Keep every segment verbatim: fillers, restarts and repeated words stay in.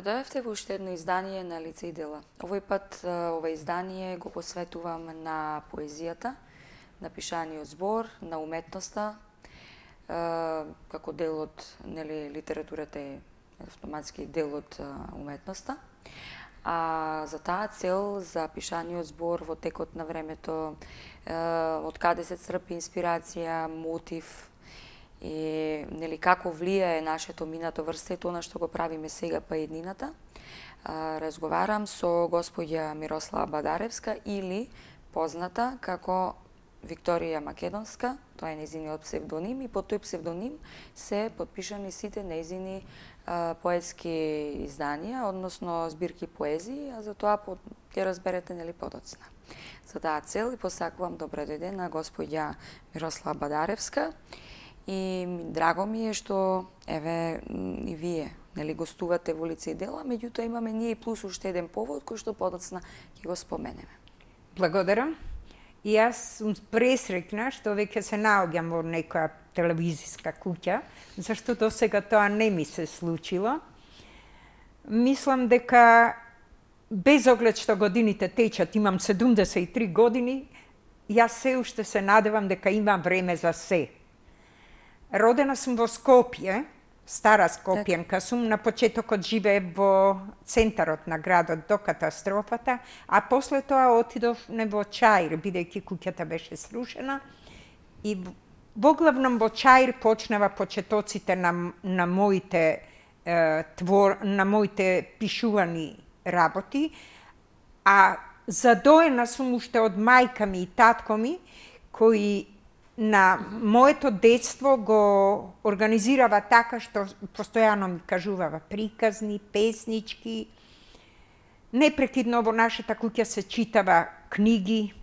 Дојдовте во уште едно издание на Лице и дела. Овој пат ова издание го посветувам на поезијата, на пишаниот збор, на уметноста, како дел од, нели, литературата е автоматски дел од уметноста. А за таа цел, за пишаниот збор во текот на времето, од каде се црпи инспирација, мотив, и нели како влијае нашето минато врз сето она што го правиме сега па еднината, разговарам со господја Мирослава Бадаревска или позната како Викторија Македонска, тоа е нејзиниот псевдоним, и под тој псевдоним се подпишани сите нејзини поетски изданија, односно збирки поезии, а за тоа ќе разберете нели подоцна. За таа цел и посакувам добро дојде на господја Мирослава Бадаревска. И драго ми е што еве и вие нели гостувате во Лице и дела, меѓутоа имаме ние и плюс уште еден повод кој што подоцна ќе го споменеме. Благодарам. И јас сум пресреќна што веќе се наоѓам во некоја телевизиска куќа, зашто до сега тоа не ми се случило. Мислам дека без оглед што годините течат, имам седумдесет и три години, јас се уште се надевам дека имам време за се. Родена сум во Скопје, стара Скопјенка сум, на почетокот живеев во центарот на градот до катастрофата, а после тоа отидов не во Чаир, бидејќи куќата беше срушена, и во главном во Чаир почнава почетоците на, на моите е, твор, на моите пишувани работи, а задоена сум уште од мајка ми и татко ми, кои на моето детство го организирава така што постојано ми кажувава приказни, песнички. Непрекидно во нашата куќа се читава книги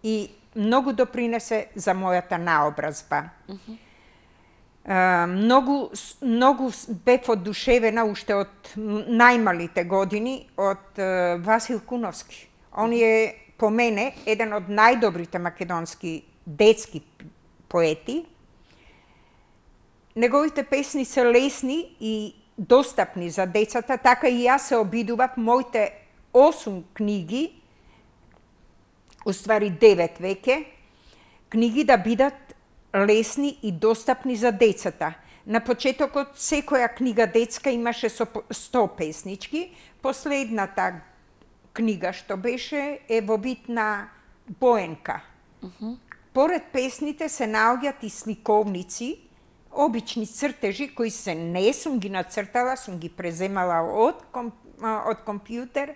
и многу допринесе за мојата наобразба. Uh-huh. Uh, многу, многу бев одушевена уште од најмалите години од uh, Васил Куновски. Он е по мене еден од најдобрите македонски детски поети. Неговите песни се лесни и достапни за децата, така и јас се обидував моите осум книги, уствари девет веќе, книги да бидат лесни и достапни за децата. На почетокот секоја книга детска имаше сто песнички, последната книга што беше е во вид на боенка. Uh-huh. Поред песните се наоѓаат и сликовници, обични цртежи кои се не сум ги нацртала, сум ги преземала од, ком, од компјутер,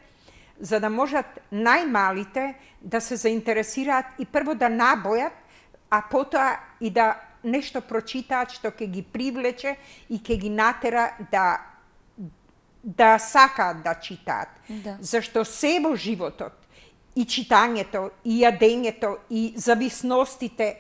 за да можат најмалите да се заинтересираат и прво да набојат, а потоа и да нешто прочитаат што ќе ги привлече и ќе ги натера да да сакаат да читаат. Да. Зашто се во животот, и читањето, и јадењето, и зависностите,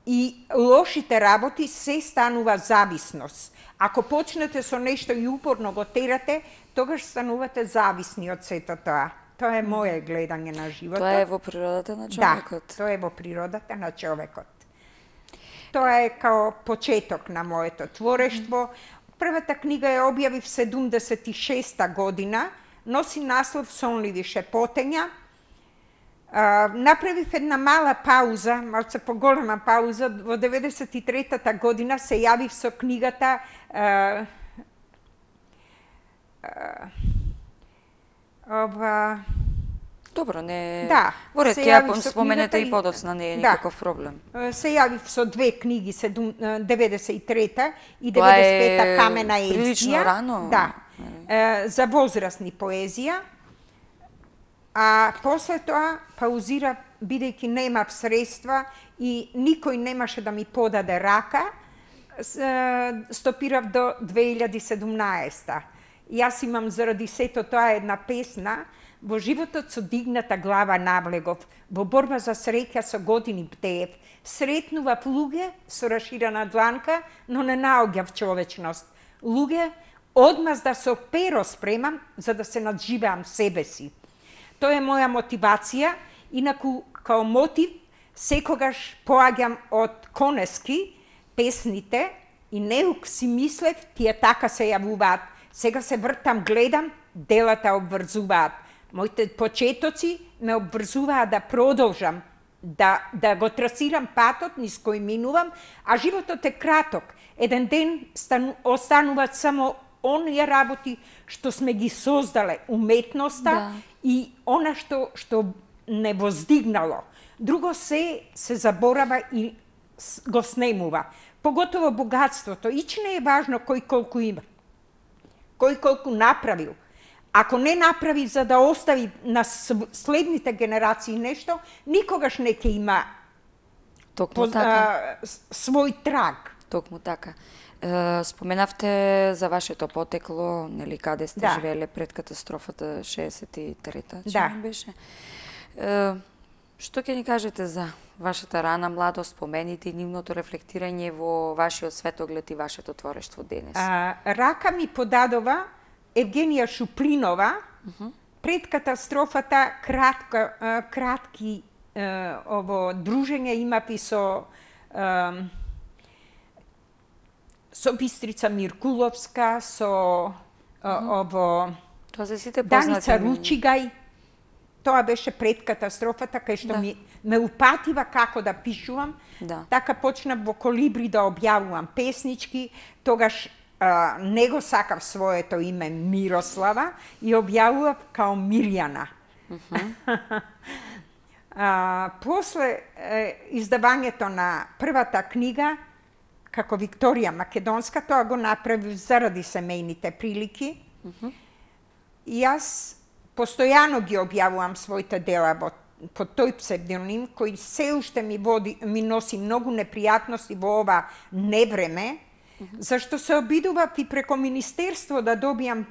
и лошите работи се станува зависност. Ако почнете со нешто и упорно го терате, тогаш станувате зависни од сето тоа. Тоа е моје гледање на животот. Тоа е во природата на човекот. Да, тоа е во природата на човекот. Тоа е као почеток на моето творештво. Првата книга ја објавив седумдесет и шеста година, носи наслов Сонливи шепотења. Uh, направив една мала пауза, малце поголема пауза, во деветдесет и третата година се јавив со книгата uh, uh, ова... Добро, не... Да, во ред, ја споменете и подоцна, не е никаков да, проблем. Се јавив со две книги, деветдесет и трета и деветдесет и пета Камена Евскија. Прилично рано. Да, uh, за возрастни поезија. А после тоа паузира, бидејќи немав средства и никој немаше да ми подаде рака, стопирав до две илјади и седумнаесета. Јас имам заради сето тоа една песна, Во животот со дигната глава навлегов, во борба за среќа со години бдеев, сретнував луѓе со раширена дланка, но не наоѓав човечност. Луѓе, одмазда со перо спремам, за да се надживеам себе си. Тоа е моја мотивација, инаку као мотив секогаш поаѓам од Конески песните и неук си мислев, тие така се јавуваат. Сега се вртам, гледам, делата обврзуваат. Моите почетоци ме обврзуваат да продолжам, да, да го трасирам патот низ кој минувам, а животот е краток. Еден ден стану, остануваат само оние работи што сме ги создале, уметноста Да. и она што, што не воздигнало. Друго се се заборава и го снемува. Поготово богатството. Ич не е важно кој колку има. Кој колку направил. Ако не направи за да остави на следните генерации нешто, никогаш не ќе има Токму по, така. а, свој траг. Токму така. Е, споменавте за вашето потекло, нели, каде сте Да. живееле пред катастрофата шеесет и трета, Да. чини беше. Е, што ќе ни кажете за вашата рана младост, спомените и нивното рефлектирање во вашиот светоглед и вашето творештво денес? А, рака ми подадова Евгенија Шуплинова, пред катастрофата кратка, а, кратки а, ово дружење имав и со а, со Бистрица Миркуловска, со а, ово Тоа се сите познати Даница имена. Ручигај. Тоа беше пред катастрофата, кај што Да. ми ме упатива како да пишувам. Да. Така почнав во Колибри да објавувам песнички, тогаш а, не го сакав своето име Мирослава и објавував као Мирјана. а, после е, издавањето на првата книга, како Викторија Македонска, тоа го направив заради семејните прилики. И јас постојано ги објавувам своите дела во, под тој псевдоним, кој се уште ми, води, ми носи многу непријатности во ова невреме, зашто се обидував и преко Министерство да добијам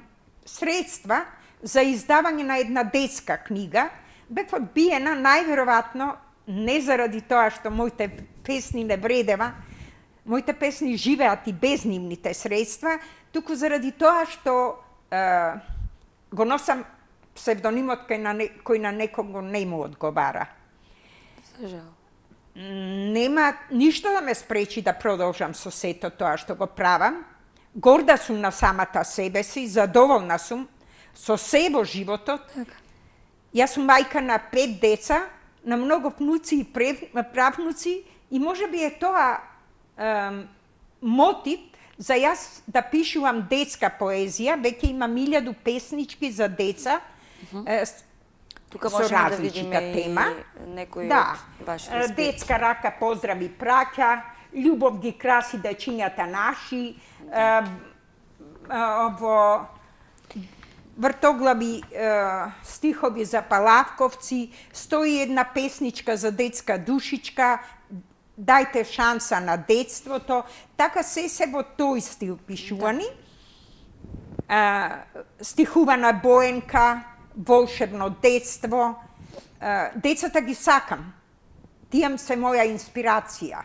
средства за издавање на една детска книга. Бев одбиена најверојатно не заради тоа што моите песни не вредева, моите песни живеат и без нивните средства, туку заради тоа што е, го носам псевдонимот кој на, не, кој на некого не му одговара. За жал. Нема ништо да ме спречи да продолжам со сето тоа што го правам. Горда сум на самата себе си, задоволна сум со се во животот. Така. Јас сум мајка на пет деца, на многу внуци и правнуци и можеби е тоа е, мотив за јас да пишувам детска поезија. Веќе имам илјаду песнички за деца, е, Тука со можеме да различита видиме тема. и некои Да, од вашите е, збирки. детска рака поздрави праќа, љубов ги краси дечињата наши, е, е, ово вртоглави е, стихови за палавковци, стои една песничка за детска душичка, дајте шанса на детството, така се се во тој стил пишувани. Да. Стихувана Боенка, волшебно детство. А, децата ги сакам. Тие се моја инспирација.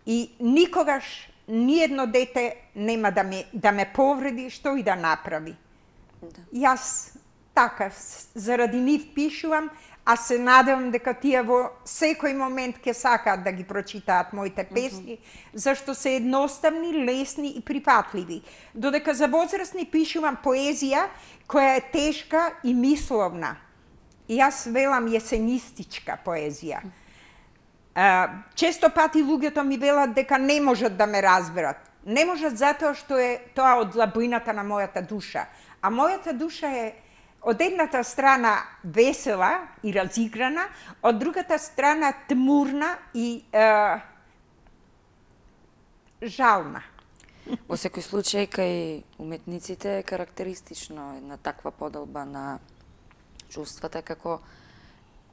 И никогаш ниедно дете нема да ме, да ме повреди, што и да направи. Да. Јас така, заради нив пишувам, а се надевам дека тие во секој момент ќе сакаат да ги прочитаат моите песни, зашто се едноставни, лесни и прифатливи. Додека за возрастни пишувам поезија која е тешка и мисловна. И јас велам јесенистичка поезија. А, често пати луѓето ми велат дека не можат да ме разберат. Не можат затоа што е тоа од длабината на мојата душа. А мојата душа е од едната страна весела и разиграна, од другата страна тмурна и е, жална. Во секој случај, кај уметниците е карактеристично една таква поделба на чувствата, како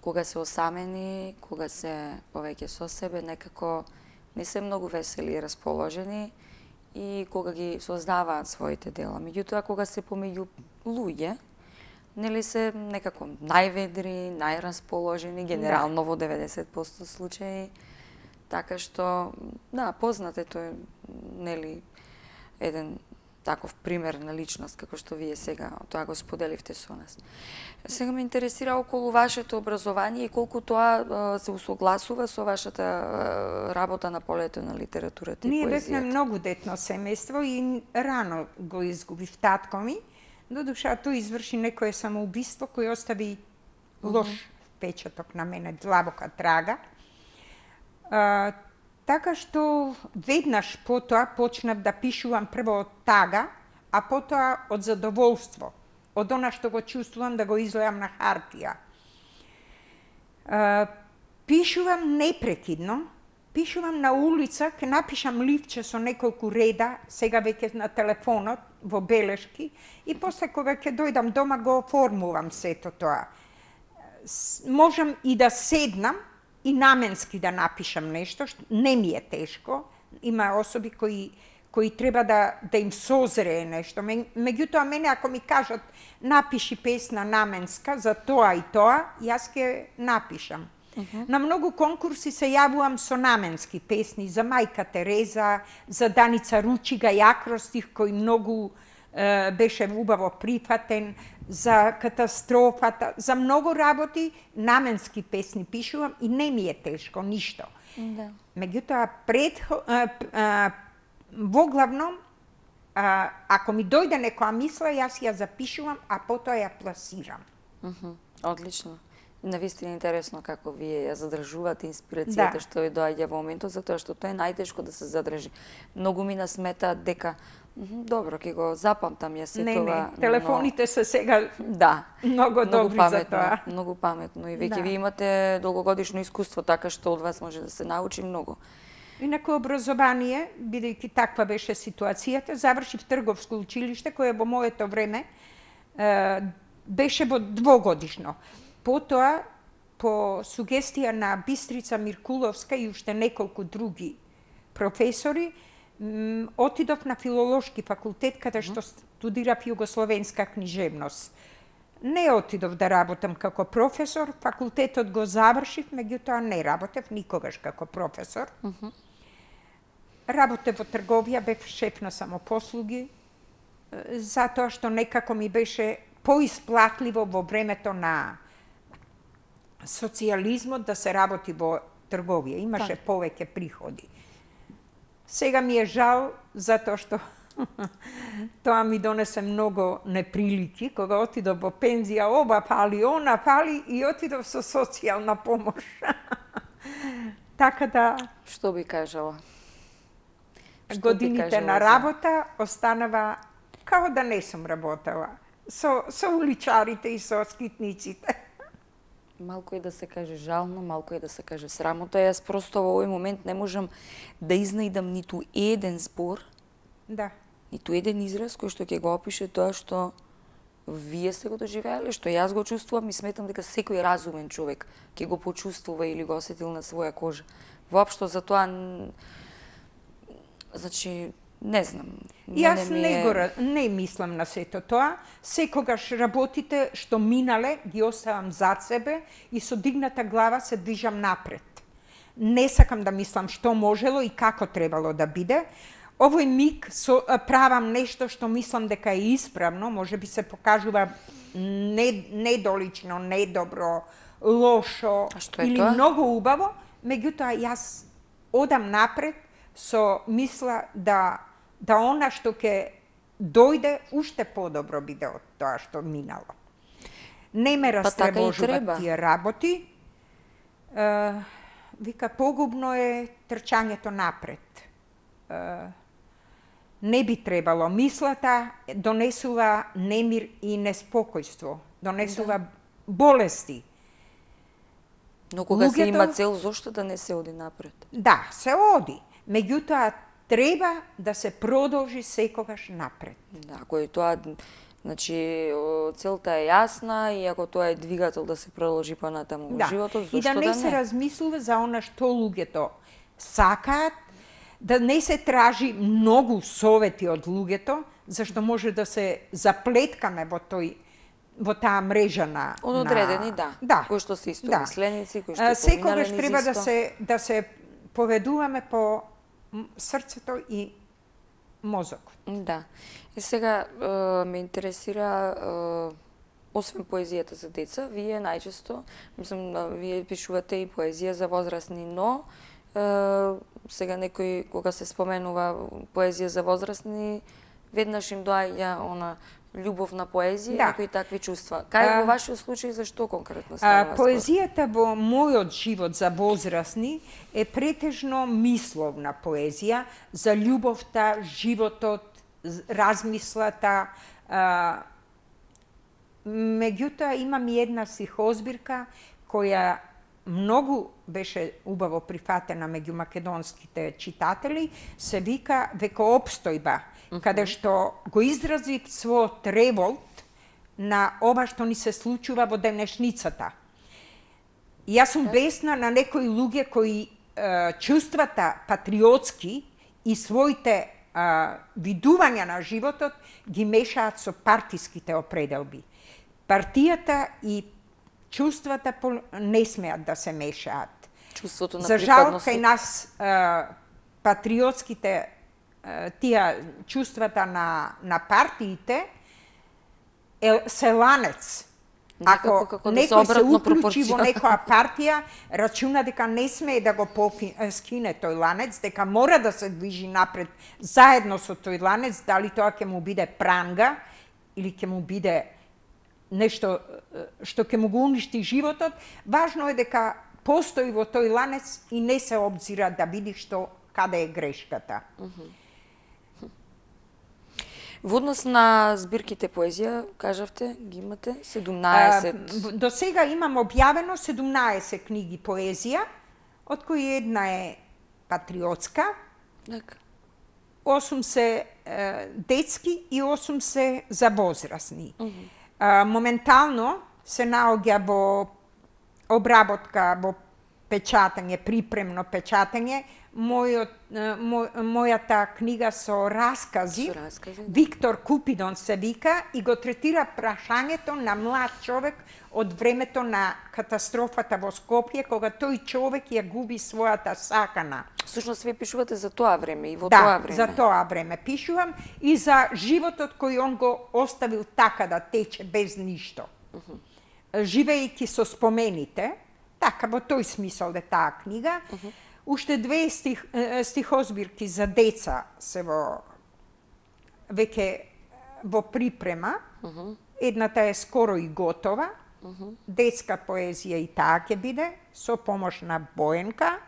кога се осамени, кога се повеќе со себе, некако не се многу весели и расположени и кога ги создаваат своите дела. Меѓутоа, кога се помеѓу луѓе, нели се некако најведри, најрасположени, генерално во деветдесет проценти случаи. Така што, да, познатето е, нели, еден таков пример на личност, како што вие сега тоа го споделивте со нас. Сега ме интересира околу вашето образование и колку тоа се усогласува со вашата работа на полето на литературата и Ние поезијата. бевме многу детно семејство и рано го изгубив татко ми. Додуша тој изврши некое самоубиство кој остави лош впечаток на мене, длабока трага. А, така што веднаш потоа почнав да пишувам прво од тага, а потоа од задоволство, од она што го чувствувам да го излеам на хартија. А, пишувам непрекидно, пишувам на улица, ке напишам ливче со неколку реда, сега веќе на телефонот, во белешки, и после кога ќе дојдам дома го оформувам сето тоа. Можам и да седнам и наменски да напишам нешто, што не ми е тешко. Има особи кои кои треба да да им созрее нешто. Меѓутоа мене ако ми кажат напиши песна наменска за тоа и тоа, јас ќе напишам. Uh -huh. На многу конкурси се јавувам со наменски песни за Мајка Тереза, за Даница Ручига и акростих кој многу е, беше убаво прифатен, за катастрофата, за многу работи наменски песни пишувам и не ми е тешко ништо. Да. Меѓутоа пред а, а, воглавно а, ако ми дојде некоја мисла, јас ја запишувам, а потоа ја пласирам. Uh -huh. Одлично. Навистина интересно како вие ја задржувате инспирацијата Да. што ви доаѓа во моментот, затоа што тоа е најтешко да се задржи. Многу мина сметаат дека мхм, добро, ќе го запамтам ја се Не, тоа. не, телефоните се сега Да, многу многу добри паметно, за тоа. многу паметно и веќе Да. ви имате долгогодишно искуство, така што од вас може да се научи многу. Инаку образование, бидејќи таква беше ситуацијата, завршив трговско училиште кое во моето време е, беше во двогодишно. Потоа, по сугестија на Бистрица Миркуловска и уште неколку други професори, м, отидов на филолошки факултет каде што студирав југословенска книжевност. Не отидов да работам како професор, факултетот го завршив, меѓутоа не работев никогаш како професор. Uh -huh. Работев во трговија, бев шеф на самопослуги, е, затоа што некако ми беше поисплатливо во времето на социјализмот да се работи во трговија, имаше Так. повеќе приходи. Сега ми е жал затоа што тоа ми донесе многу неприлики, кога отидов во пензија, оба фали, она фали и отидов со социјална помош. Така да Што би кажала? Што би годините кажала на за- работа останава као да не сум работела. Со, со уличарите и со скитниците. Малку е да се каже жално, малку е да се каже срамота. Јас просто во овој момент не можам да изнајдам ниту еден збор, Да. ниту еден израз кој што ќе го опише тоа што вие сте го доживеале, што јас го чувствувам и сметам дека секој разумен човек ќе го почувствува или го осетил на своја кожа. Воопшто за тоа н- значи не знам. Јас ми не е- го ра- не мислам на сето тоа. Секогаш работите што минале ги оставам зад себе и со дигната глава се движам напред. Не сакам да мислам што можело и како требало да биде. Овој миг со, а, правам нешто што мислам дека е исправно, може би се покажува не, недолично, недобро, лошо А што е или тоа? многу убаво, меѓутоа јас одам напред со мисла да да она што ќе дојде уште подобро биде од тоа што минало. Не ме Па така и треба. растревожуваат тие работи. Е, вика, погубно е трчањето напред. Е, не би требало. Мислата донесува немир и неспокојство. Донесува Да. болести. Но кога се Луѓето- има цел, зошто да не се оди напред? Да, се оди. Меѓутоа, треба да се продолжи секогаш напред. Да, ако е тоа, значи, о, целта е јасна и ако тоа е двигател да се продолжи понатаму во Да. животот, зошто И да не се размислува за она што луѓето сакаат, да не се тражи многу совети од луѓето, зашто може да се заплеткаме во тој во таа мрежа на одредени, на... да. да. Кои што се исто да. мисленици, кои што А, поминале секогаш низ треба да исто. се да се поведуваме по срцето и мозокот. Да. И сега е, ме интересира, е, освен поезијата за деца, вие најчесто, мислам, да, вие пишувате и поезија за возрастни, но е, сега некој, кога се споменува поезија за возрастни, веднаш им доаѓа она љубов на поезија, Да. некои такви чувства. Кај А, во вашиот случај зашто конкретно А, става збор? поезијата во мојот живот за возрастни е претежно мисловна поезија за љубовта, животот, з- размислата. А, меѓутоа имам и една стихозбирка која многу беше убаво прифатена меѓу македонските читатели, се вика Векоопстојба, каде што го изрази својот револт на ова што ни се случува во денешницата. И јас сум бесна на некои луѓе кои е, чувствата патриотски и своите е, видувања на животот ги мешаат со партиските определби. Партијата и чувствата не смеат да се мешаат. Чувството на За жал, припадност. кај нас е, патриотските е, тие чувствата на, на партиите е, се ланец. Некако Ако како да се некој се обратно уклучи во пропорција. некоја партија, рачуна дека не смее да го поки, скине тој ланец, дека мора да се движи напред заедно со тој ланец, дали тоа ќе му биде пранга или ќе му биде нешто е, што ќе му го уништи животот. Важно е дека постои во тој ланец и не се обзира да види што каде е грешката. Во однос на збирките поезија, кажавте, ги имате седумнаесет. А, До сега имам објавено седумнаесет книги поезија, од кои една е патриотска, Така. осум се е, детски и осум се за возрастни. А, моментално се наоѓа во обработка, во печатање, припремно печатање, мојот, е, мо, мојата книга со раскази, Со раскази, да. Виктор Купидон се вика, и го третира прашањето на млад човек од времето на катастрофата во Скопје, кога тој човек ја губи својата сакана. Всушност вие пишувате за тоа време и во Да, тоа време. за тоа време пишувам и за животот кој он го оставил така да тече без ништо. Живејќи со спомените, така во тој смисол е таа книга. Уште две стих, е, стихозбирки за деца се во веќе во припрема. Едната е скоро и готова. Детска поезија и таа ќе биде со помош на Боенка.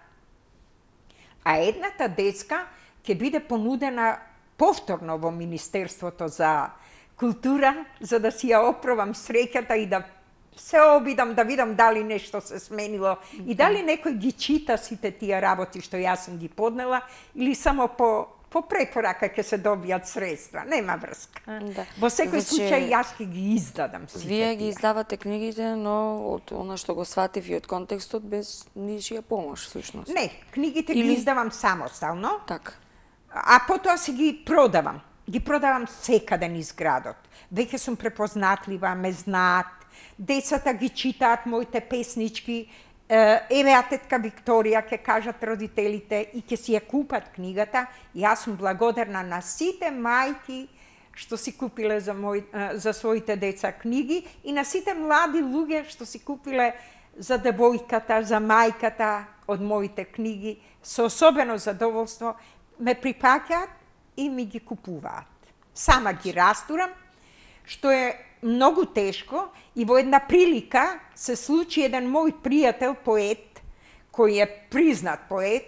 А едната детска ќе биде понудена повторно во Министерството за култура, за да си ја опробам среќата и да се обидам да видам дали нешто се сменило и дали некој ги чита сите тие работи што јас сум ги поднела или само по по препорака ќе се добијат средства, нема врска. Да. Во секој Значи, случај јас ќе ги издадам сите Вие ги тие. издавате книгите, но од она што го сватив и од контекстот без ничија помош, всушност. Не, книгите Или- ги издавам самостално. Така. А потоа си ги продавам. Ги продавам секаде низ градот. Веќе сум препознатлива, ме знаат. Децата ги читаат моите песнички. Е, Еве а тетка Викторија, ќе кажат родителите и ќе си ја купат книгата. Јас сум благодарна на сите мајки што си купиле за, мој, е, за своите деца книги и на сите млади луѓе што си купиле за девојката, за мајката од моите книги. Со особено задоволство ме припаќаат и ми ги купуваат. Сама ги растурам, што е многу тешко, и во една прилика се случи еден мој пријател поет, кој е признат поет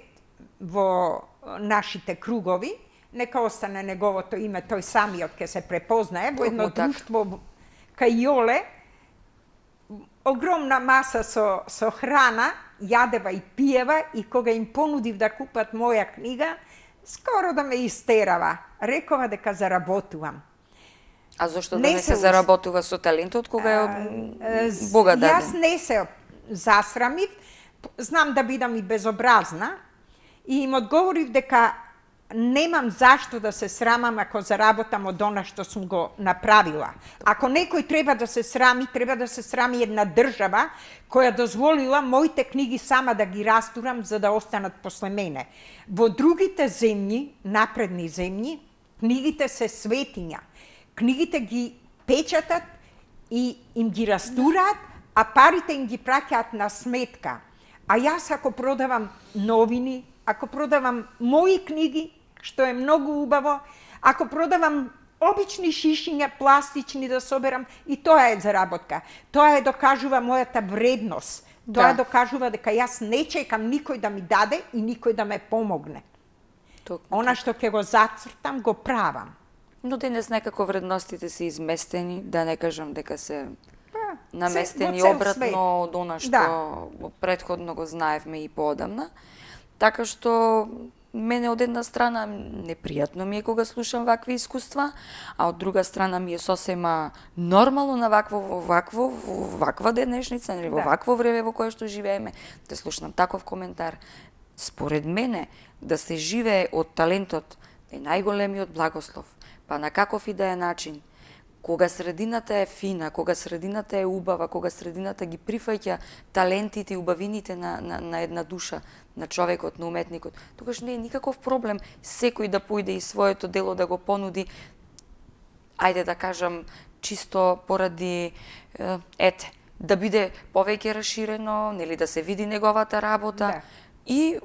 во нашите кругови, нека остане неговото име, тој самиот ќе се препознае, во едно Токму така. друштво кај Јоле, огромна маса со, со храна, јадева и пиева, и кога им понудив да купат моја книга, скоро да ме истерава. Рекова дека заработувам. А зошто да Не не се се ус- заработува со талентот кога е од Е, з- Бога даден? Јас не се засрамив, знам да бидам и безобразна, и им одговорив дека немам зашто да се срамам ако заработам од она што сум го направила. Ако некој треба да се срами, треба да се срами една држава која дозволила моите книги сама да ги растурам за да останат после мене. Во другите земји, напредни земји, книгите се светиња. Книгите ги печатат и им ги растураат, а парите им ги праќаат на сметка. А јас ако продавам новини, ако продавам мои книги, што е многу убаво, ако продавам обични шишиња, пластични да соберам, и тоа е заработка. Тоа е докажува мојата вредност. Тоа Да. докажува дека јас не чекам никој да ми даде и никој да ме помогне. Токму Она што ќе го зацртам, го правам. Но денес некако вредностите се изместени, да не кажам дека се Па, наместени се- во цел обратно свет. од она што Да. претходно го знаевме и поодамна. Така што мене од една страна непријатно ми е кога слушам вакви искуства, а од друга страна ми е сосема нормално на вакво во вакво во ваква денешница, нели во Да. вакво време во кое што живееме, да слушнам таков коментар. Според мене, да се живее од талентот е најголемиот благослов, па на каков и да е начин. Кога средината е фина, кога средината е убава, кога средината ги прифаќа талентите и убавините на, на, на една душа, на човекот, на уметникот, тогаш не е никаков проблем секој да појде и своето дело да го понуди, ајде да кажам, чисто поради, е, ете, да биде повеќе расширено, нели да се види неговата работа. Да. И е,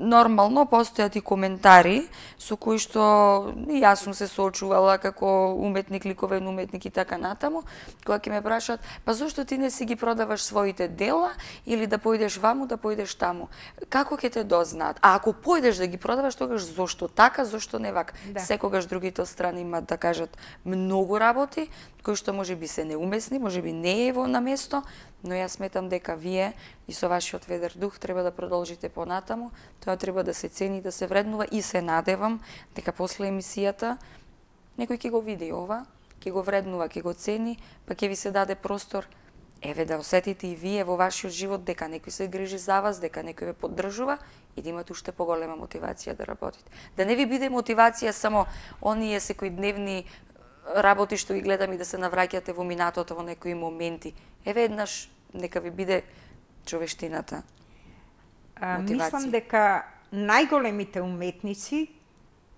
нормално постојат и коментари со кои што и јас сум се соочувала како уметник, ликовен уметник и така натаму, кога ќе ме прашаат, па зошто ти не си ги продаваш своите дела или да појдеш ваму, да појдеш таму? Како ќе те дознаат? А ако појдеш да ги продаваш, тогаш зошто така, зошто не вака? Да. Секогаш другите страни имаат да кажат многу работи кои што можеби се неумесни, можеби не е во на место, но јас сметам дека вие и со вашиот ведар дух треба да продолжите понатаму, тоа треба да се цени, да се вреднува и се надевам дека после емисијата некој ќе го види ова, ќе го вреднува, ќе го цени, па ќе ви се даде простор, еве да осетите и вие во вашиот живот дека некој се грижи за вас, дека некој ве поддржува и да имате уште поголема мотивација да работите. Да не ви биде мотивација само оние секојдневни работи што ги гледам и да се навраќате во минатото во некои моменти. Еве еднаш нека ви биде човештината. А, Мотивација. мислам дека најголемите уметници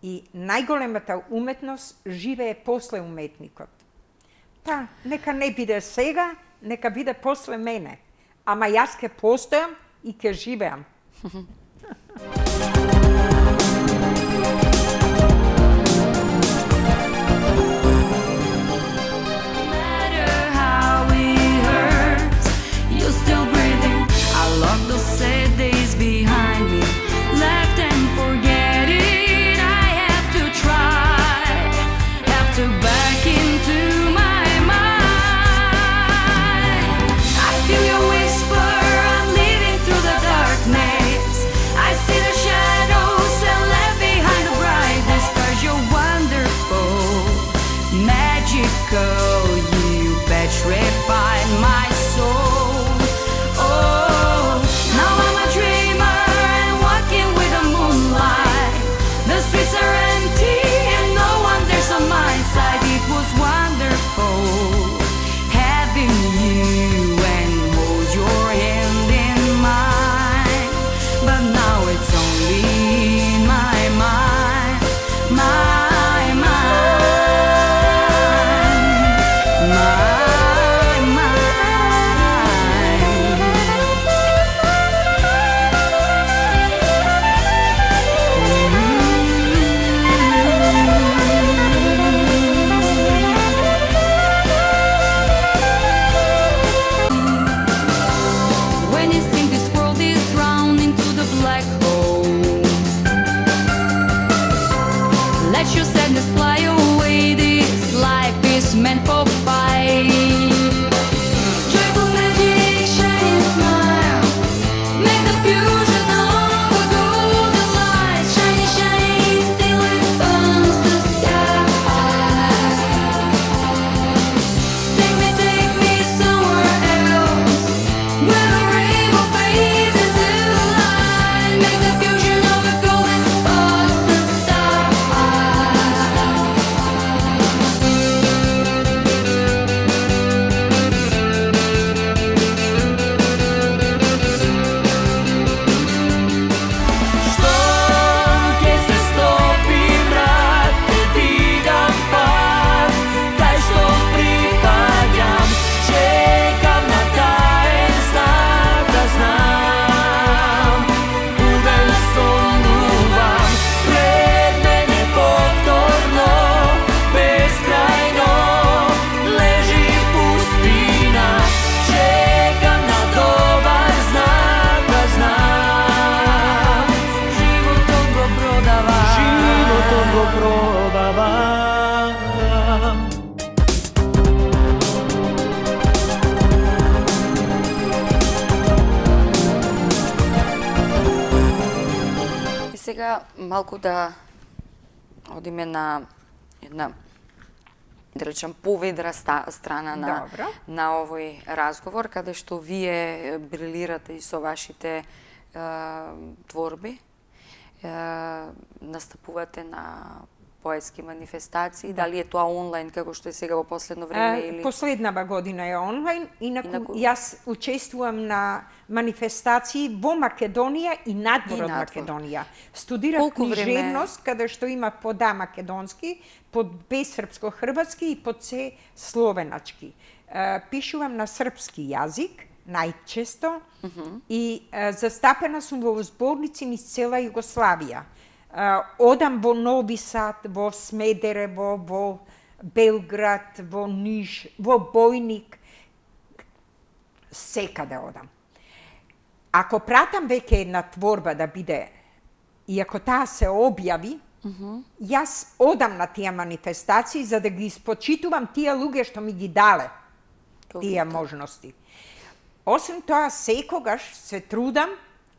и најголемата уметност живее после уметникот. Па, нека не биде сега, нека биде после мене. Ама јас ке постојам и ке живеам. matter how it hurts, you're still breathing. I lock those sad days behind me, left and forget it. I have to try, have to back into my mind. I feel your whisper, I'm living through the darkness. I see the shadows and пробавам. И сега малку да одиме на една, да речем, поведра страна на, на овој разговор, каде што вие брилирате и со вашите е, творби, е, настапувате на поетски манифестации, да. Дали е тоа онлайн, како што е сега во последно време? Е, или... Последнава година е онлайн, инаку, инаку... јас учествувам на манифестации во Македонија и надвор од надвор. Македонија. Студирав Колку книжевност, време... каде што има по да македонски, по бе српско-хрватски и по це словеначки. Е, пишувам на српски јазик, најчесто, uh -huh. и е, застапена сум во зборници низ цела Југославија. Uh, одам во Нови Сад, во Смедерево, во Белград, во Ниш, во Бојник, секаде одам. Ако пратам веќе една творба да биде, и ако таа се објави, uh -huh. јас одам на тие манифестации за да ги испочитувам тие луѓе што ми ги дале тие можности. Освен тоа, секогаш се трудам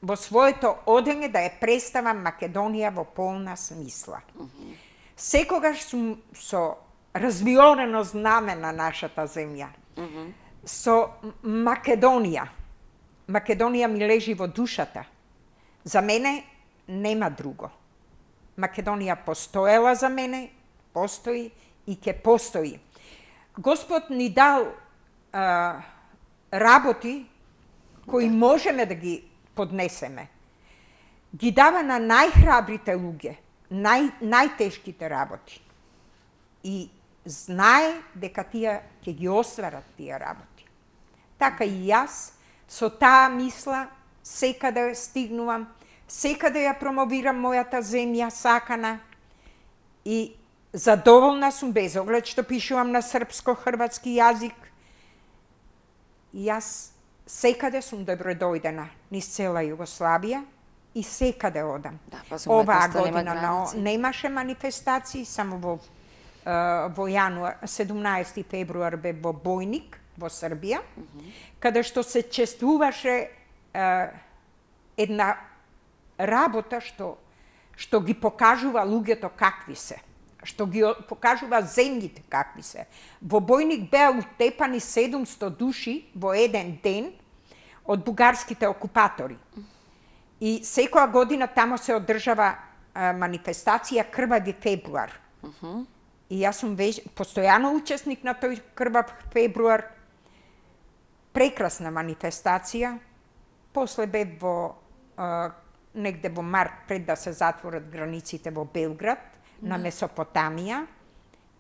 во своето одење да ја представам Македонија во полна смисла. Uh -huh. Секогаш сум со развиорено знаме на нашата земја. Uh -huh. Со Македонија. Македонија ми лежи во душата. За мене нема друго. Македонија постоела за мене, постои и ќе постои. Господ ни дал а, работи кои можеме да ги поднесеме. Ги дава на најхрабрите луѓе, нај, најтешките работи. И знае дека тие ќе ги остварат тие работи. Така и јас со таа мисла секаде стигнувам, секаде ја промовирам мојата земја сакана и задоволна сум без оглед што пишувам на српско-хрватски јазик. И јас секаде сум добродојдена низ цела Југославија и секаде одам. Да, па оваа година нема немаше манифестации, само во во јануар, седумнаесети февруар бе во Бојник, во Србија, uh -huh. каде што се чествуваше е, една работа што што ги покажува луѓето какви се, што ги покажува земјите какви се. Во Бојник беа утепани седумсто души во еден ден од бугарските окупатори. И секоја година тамо се одржава а, манифестација Крвави февруар. Uh -huh. И јас сум веќе постојано учесник на тој Крвав февруар. Прекрасна манифестација. После бе во а, негде во март, пред да се затворат границите во Белград, mm. на Месопотамија,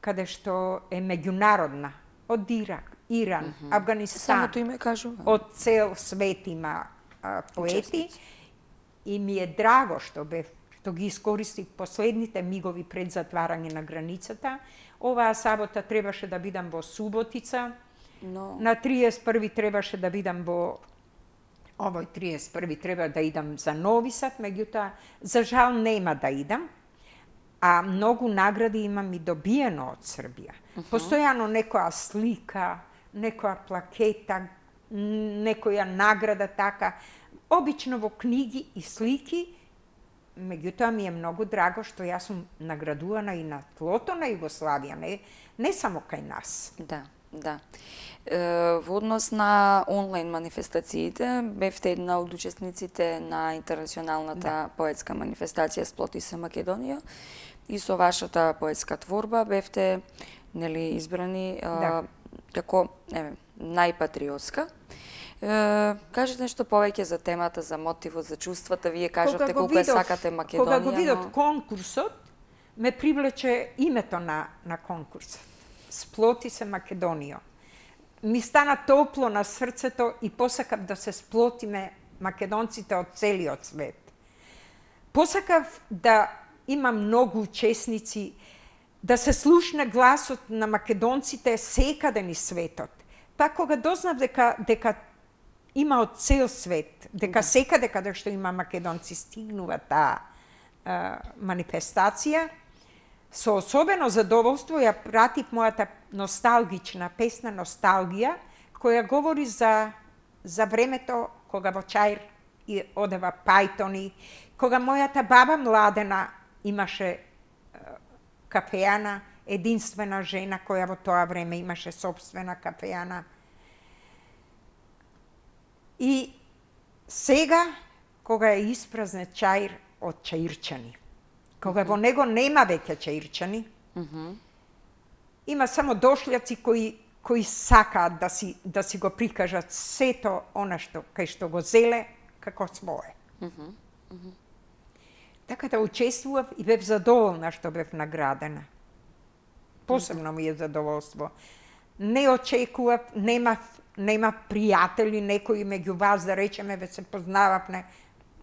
каде што е меѓународна, од Ирак, Иран, mm -hmm. Авганистан. Самото име кажува. Од цел свет има а, поети. Учесници. И ми е драго што бе што ги искористих последните мигови пред затварање на границата. Оваа сабота требаше да бидам во Суботица. No. На триесет и први требаше да бидам во овој триесет и први треба да идам за Нови Сад, меѓутоа за жал нема да идам. А многу награди имам и добиено од Србија. Uh -huh. Постојано некоја слика, некоја плакета, некоја награда така, обично во книги и слики. Меѓутоа ми е многу драго што јас сум наградувана и на тлото на Југославија, не, не само кај нас. Да, да. Е, во однос на онлайн манифестациите, бевте една од учесниците на интернационалната да. поетска манифестација Сплоти се Македонија и со вашата поетска творба бевте, нели, избрани да. како еве најпатриотска. Е, кажете нешто повеќе за темата, за мотивот, за чувствата. Вие кажавте колку ја сакате Македонија. Кога го видов но... конкурсот, ме привлече името на, на конкурсот. Сплоти се Македонија. Ми стана топло на срцето и посакав да се сплотиме македонците од целиот свет. Посакав да има многу учесници, да се слушне гласот на македонците секаде низ светот. Па кога дознав дека дека има од цел свет, дека секаде каде што има македонци стигнува таа манифестација, Со особено задоволство ја пратив мојата носталгична песна Носталгија, која говори за, за времето кога во Чаир и одева пајтони, кога мојата баба Младена имаше е, кафејана, единствена жена која во тоа време имаше собствена кафејана. И сега, кога е испразнет Чаир од чаирчани, кога во него нема веќе чаирчани, Мгм. има само дошљаци кои кои сакаат да си да си го прикажат сето она што кај што го зеле како свое. Така да учествував и бев задоволна што бев наградена. Посебно ми е задоволство. Не очекував, немав нема пријатели, некои меѓу вас да речеме ве се познававме,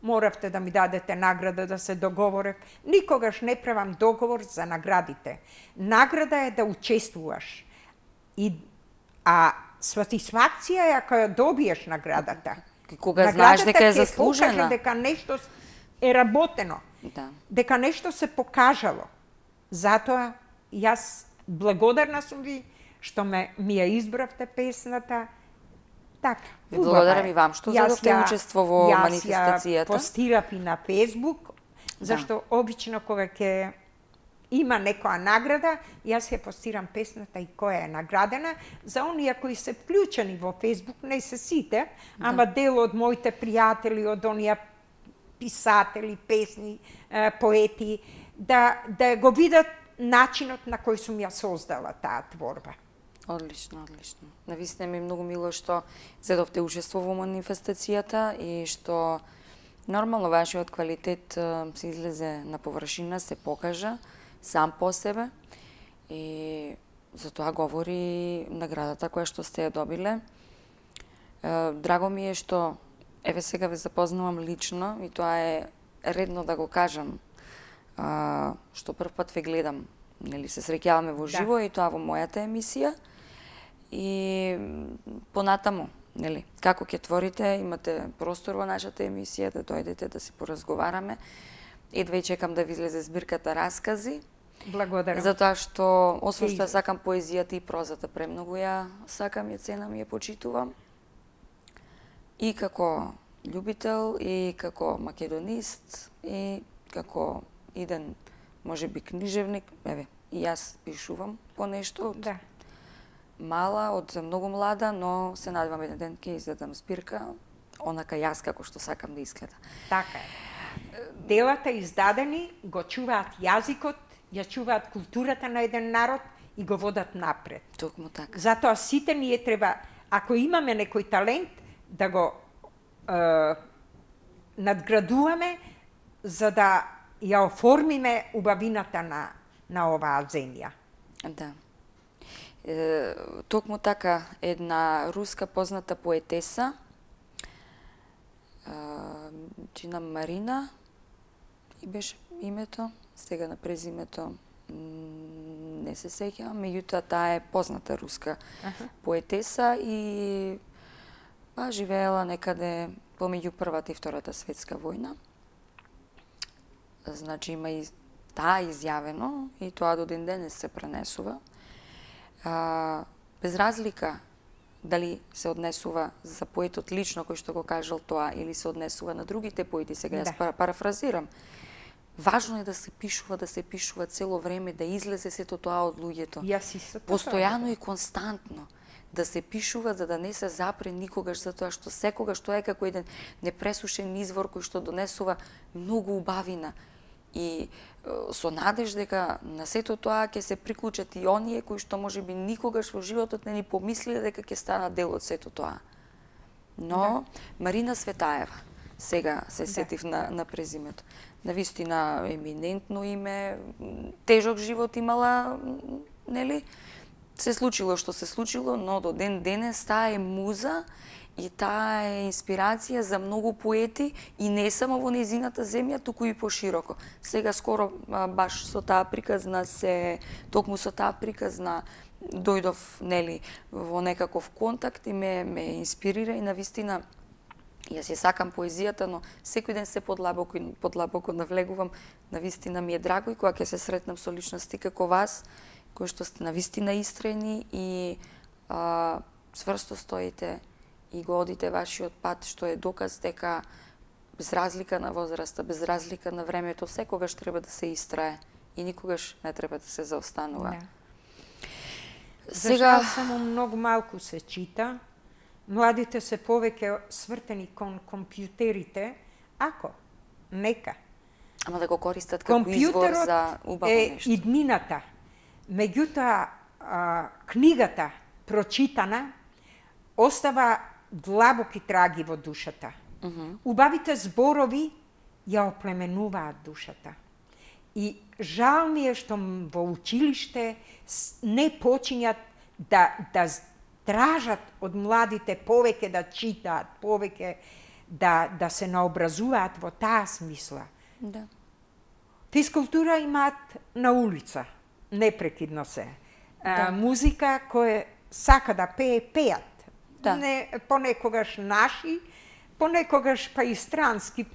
моравте да ми дадете награда да се договорев. Никогаш не правам договор за наградите. Награда е да учествуваш. И а сатисфакција е ако ја добиеш наградата. Кога знаеш дека е ќе покаже заслужена. дека нешто е работено. Да. Дека нешто се покажало. Затоа јас благодарна сум ви што ме ми ја избравте песната. Така. Ви благодарам и вам што Јас задовте ја- учество во Јас манифестацијата. ја постирав и на Фејсбук, зашто обично кога ќе има некоја награда, јас ја постирам песната и која е наградена. За оние кои се вклучени во Фејсбук, не се сите, ама дел од моите пријатели, од оние писатели, песни, е, поети, да, да го видат начинот на кој сум ја создала таа творба. Одлично, одлично. Навистина ми е многу мило што зедовте учество во манифестацијата и што нормално вашиот квалитет е, се излезе на површина, се покажа сам по себе и за тоа говори наградата која што сте ја добиле. Е, Драго ми е што еве сега ве запознавам лично и тоа е редно да го кажам. А, што прв пат ве гледам, нели се среќаваме во живо и тоа во мојата емисија. И м, понатаму, нели, како ќе творите, имате простор во нашата емисија да дојдете да си поразговараме. Едва и чекам да ви излезе збирката раскази, Благодарам. затоа што освен што ја излезе. сакам поезијата и прозата премногу ја сакам, ја ценам и ја почитувам. И како љубител, и како македонист, и како иден, можеби, книжевник. Еве, и јас пишувам по нешто од Да. мала, од многу млада, но се надевам еден ден ќе издадам збирка, онака јас како што сакам да изгледа. Така е. Делата издадени го чуваат јазикот, ја чуваат културата на еден народ и го водат напред. Токму така. Затоа сите ние треба, ако имаме некој талент, да го е, надградуваме за да ја оформиме убавината на, на оваа земја. Да. Е, токму така, една руска позната поетеса, е, Джина Марина, и беше името, сега на презимето м, не се сеќавам, меѓутоа таа е позната руска Аха. поетеса и па живеела некаде помеѓу Првата и Втората светска војна. Значи има и таа изјавено и тоа до ден денес се пренесува. А, без разлика дали се однесува за поетот лично кој што го кажал тоа или се однесува на другите поети, сега јас Да. пара- парафразирам. Важно е да се пишува, да се пишува цело време, да излезе сето тоа од луѓето. Јас исто така. Постојано и константно да се пишува за да не се запре никогаш, затоа што секогаш тоа е како еден непресушен извор кој што донесува многу убавина и е, со надеж дека на сето тоа ќе се приклучат и оние кои што можеби никогаш во животот не ни помислиле дека ќе станат дел од сето тоа. Но Марина Светаева, сега се сетив на, на презимето. Навистина еминентно име, тежок живот имала, нели? Се случило што се случило, но до ден денес таа е муза и таа е инспирација за многу поети и не само во незината земја, туку и пошироко. Сега скоро а, баш со таа приказна се, токму со таа приказна дојдов, нели, во некаков контакт и ме, ме инспирира и навистина Јас ја сакам поезијата, но секој ден се подлабоко и подлабоко навлегувам. Навистина ми е драго и кога ќе се сретнам со личности како вас, кои што сте навистина истрени и а, цврсто стоите и го одите вашиот пат, што е доказ дека без разлика на возраста, без разлика на времето, секогаш треба да се истрае и никогаш не треба да се заостанува. Да. Сега За жал само многу малку се чита. Младите се повеќе свртени кон компјутерите, ако нека. Ама да го користат како извор за убаво е нешто. иднината. Меѓутоа, а, книгата прочитана остава длабоки траги во душата. Uh -huh. Убавите зборови ја оплеменуваат душата. И жал ми е што во училиште не почињат да, да тражат од младите повеќе да читаат, повеќе да, да се наобразуваат во таа смисла. Да. Физкултура имаат на улица, непрекидно се. Да. А, музика кој сака да пее, пеат. Да. Не, понекогаш наши, понекогаш па и странски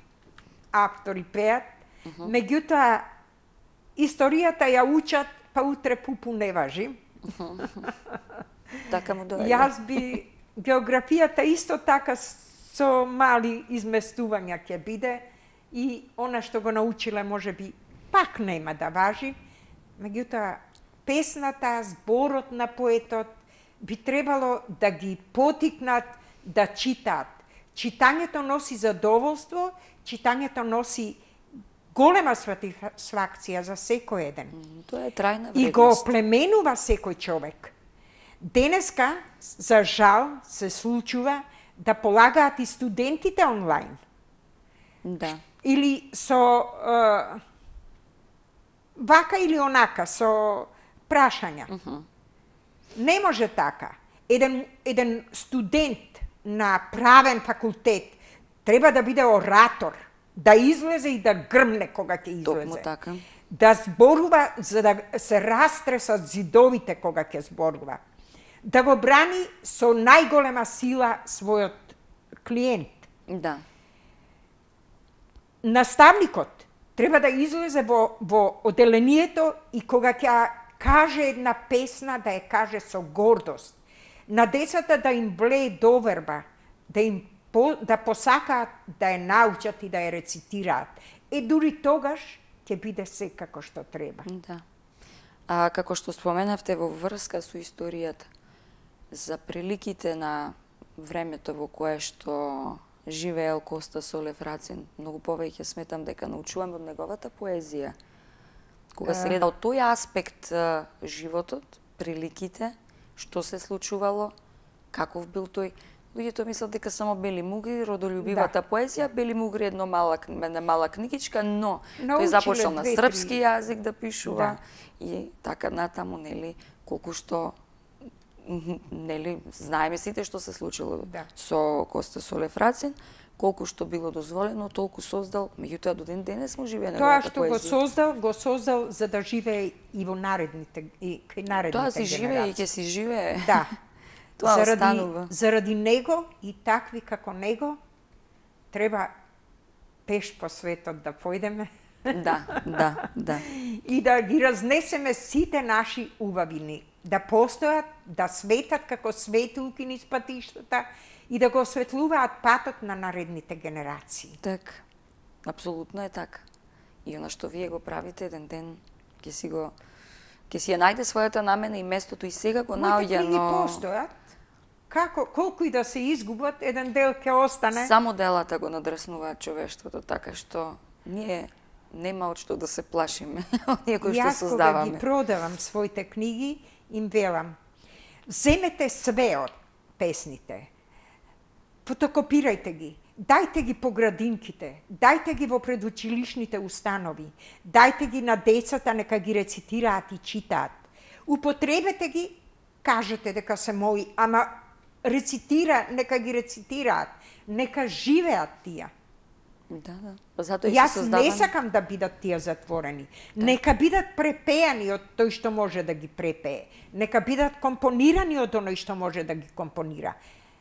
автори пеат. Uh -huh. Меѓутоа, историјата ја учат, па утре пупу не важи. Uh -huh. Така му доаѓа. Јас би географијата исто така со мали изместувања ќе биде и она што го научиле може би пак нема да важи. Меѓутоа, песната, зборот на поетот би требало да ги потикнат да читаат. Читањето носи задоволство, читањето носи голема сатисфакција за секој еден. Тоа е трајна вредност. И го оплеменува секој човек. Денеска, за жал, се случува да полагаат и студентите онлайн. Да. Или со е, вака или онака, со прашања. Uh -huh. Не може така. Еден, еден студент на правен факултет треба да биде оратор, да излезе и да грмне кога ќе излезе. Токму така. Да зборува за да се растресат зидовите кога ќе зборува. Да го брани со најголема сила својот клиент. Да. Наставникот треба да излезе во, во оделението и кога ќе каже една песна, да ја каже со гордост. На децата да им влее доверба, да им по, да посакаат да ја научат и да ја рецитираат. Е, дури тогаш ќе биде се како што треба. Да. А како што споменавте во врска со историјата, за приликите на времето во кое што живеел Коста Солев Рацин, многу повеќе сметам дека научувам од неговата поезија. Кога се гледа од тој аспект животот, приликите, што се случувало, каков бил тој. Луѓето мислат дека само Бели Мугри, родолюбивата да. поезија, Бели Мугри една мала, една мала книгичка, но научиле, тој започнал на српски јазик да пишува да. и така натаму, нели, колку што нели, знаеме сите што се случило да. со Коста Солев Рацин, колку што било дозволено, толку создал, меѓутоа до ден денес му живее неговата поезија. Тоа што го создал, го создал за да живее и во наредните и кај наредните генерации. Тоа си живее и ќе си живее. Да. Тоа заради, останува. Заради него и такви како него треба пеш по светот да појдеме. Да, да, да. И да ги разнесеме сите наши убавини, да постојат, да светат како светулки низ патиштата и да го осветлуваат патот на наредните генерации. Така, апсолутно е така. И она што вие го правите еден ден ќе си го ќе си ја најде својата намена и местото и сега го наоѓа, но постојат. Како колку и да се изгубат, еден дел ќе остане. Само делата го надреснуваат човештвото, така што ние нема од што да се плашиме, оние кои што создаваме. Јас кога ги продавам своите книги, им велам, земете све од песните, фотокопирајте ги, дајте ги по градинките, дајте ги во предучилишните установи, дајте ги на децата, нека ги рецитираат и читаат. Употребете ги, кажете дека се мои, ама рецитира, нека ги рецитираат, нека живеат тие. Да, да. Затоа Јас создавам... не сакам да бидат тие затворени. Да. Нека бидат препеани од тој што може да ги препее. Нека бидат компонирани од оној што може да ги компонира.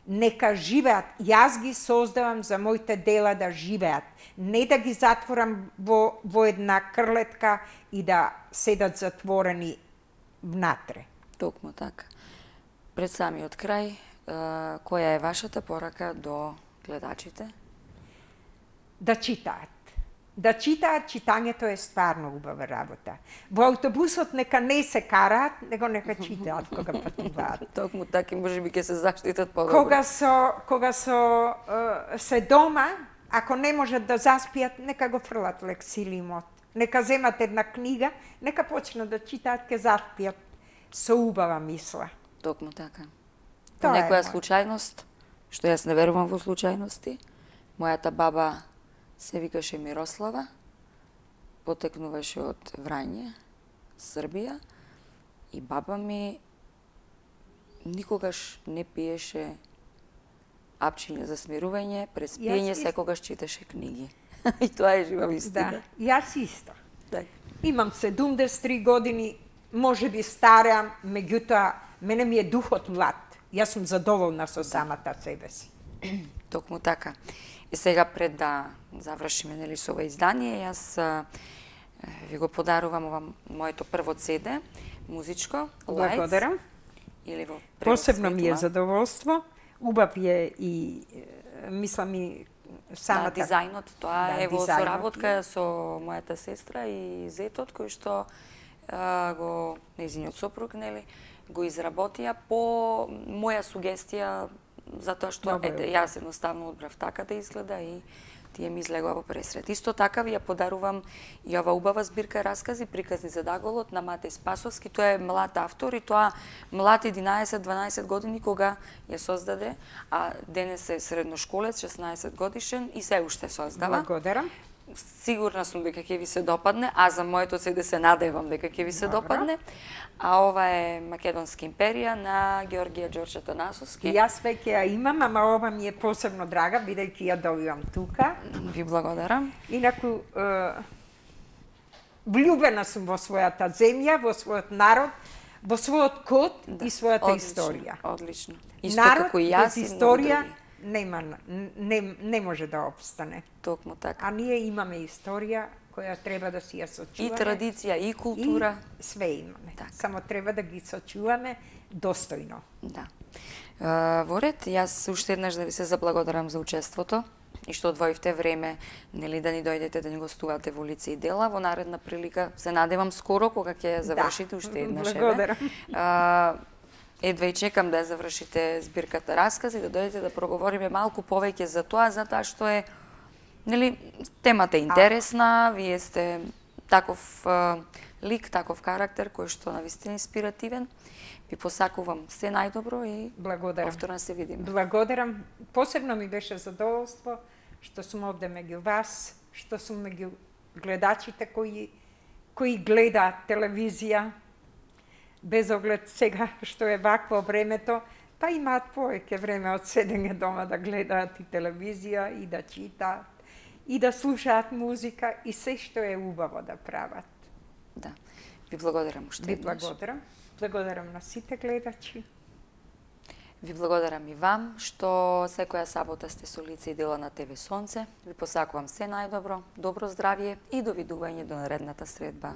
нека живеат. Јас ги создавам за моите дела да живеат. Не да ги затворам во, во една крлетка и да седат затворени внатре. Токму така. Пред самиот крај, која е вашата порака до гледачите? Да читаат. Да читаат, читањето е стварно убава работа. Во автобусот нека не се караат, него нека читаат кога патуваат. Токму така, може би ќе се заштитат подобро. Кога со кога со е, се дома, ако не можат да заспијат, нека го фрлат лексилимот. Нека земат една книга, нека почнат да читаат, ќе заспијат со убава мисла. Токму така. По Тоа е некоја моја. случајност, што јас не верувам во случајности, мојата баба се викаше Мирослава, потекнуваше од Врање, Србија, и баба ми никогаш не пиеше апчиња за смирување, през пиење Јас секогаш читаше книги. И тоа е жива вистина. Да, јас исто. Така. Имам седумдесет и три години, може би стареам, меѓутоа мене ми е духот млад. Јас сум задоволна со самата себе си. Токму така. И сега пред да завршиме нели со ова издание, јас а, ви го подарувам ова моето прво цеде, музичко, Благодарам. Lights, или во превод Посебно ми е Светла. задоволство. Убав е и е, мислам и самата... Да, дизајнот, тоа Да, е во дизајнот соработка е. со мојата сестра и зетот, кој што а, го, нејзиниот сопруг, нели, го изработија по моја сугестија, затоа што, Добро е. ете, јас едноставно одбрав така да изгледа и тие ми излегува во пресред. Исто така ви ја подарувам и ова убава збирка раскази, приказни за Даголот на Матеј Спасовски. Тоа е млад автор и тоа млад единаесет-дванаесет години кога ја создаде, а денес е средношколец, шеснаесет годишен и се уште создава. Благодарам. Сигурна сум дека ќе ви се допадне, а за моето цеде се надевам дека ќе ви се Добро. допадне. А ова е Македонска империја на Ѓорѓија Ѓорче Танасовски. Јас веќе ја имам, ама ова ми е посебно драга, бидејќи ја добивам тука. Ви благодарам. Инаку, е, влюбена сум во својата земја, во својот народ, во својот код и својата Одлично, историја. Одлично. Исто Народ како и јас без и многу историја други. нема, не, не може да опстане. Токму така. А ние имаме историја која треба да си ја сочуваме. И традиција, и култура. И све имаме. Така. Само треба да ги сочуваме достојно. Да. Е, Во ред, јас уште еднаш да ви се заблагодарам за учеството и што одвоивте време, нели, да ни дојдете да ни гостувате во лице и дела. Во наредна прилика се надевам скоро кога ќе ја завршите уште еднаш. еве. Благодарам. Е, Едва и чекам да ја завршите збирката раскази, да дојдете да проговориме малку повеќе за тоа, затоа што е, нели, темата е интересна, вие сте таков е, лик, таков карактер кој што навистина инспиративен. Ви посакувам се најдобро и Благодарам. повторно се видиме. Благодарам. Посебно ми беше задоволство што сум овде меѓу вас, што сум меѓу гледачите кои кои гледаат телевизија, без оглед сега што е вакво времето, па имаат повеќе време од седење дома да гледаат и телевизија и да читаат и да слушаат музика и се што е убаво да прават. Да. Ви благодарам уште Ви еднаш. благодарам. Благодарам на сите гледачи. Ви благодарам и вам што секоја сабота сте со лице и дела на ТВ Сонце. Ви посакувам се најдобро, добро здравје и довидување до наредната средба.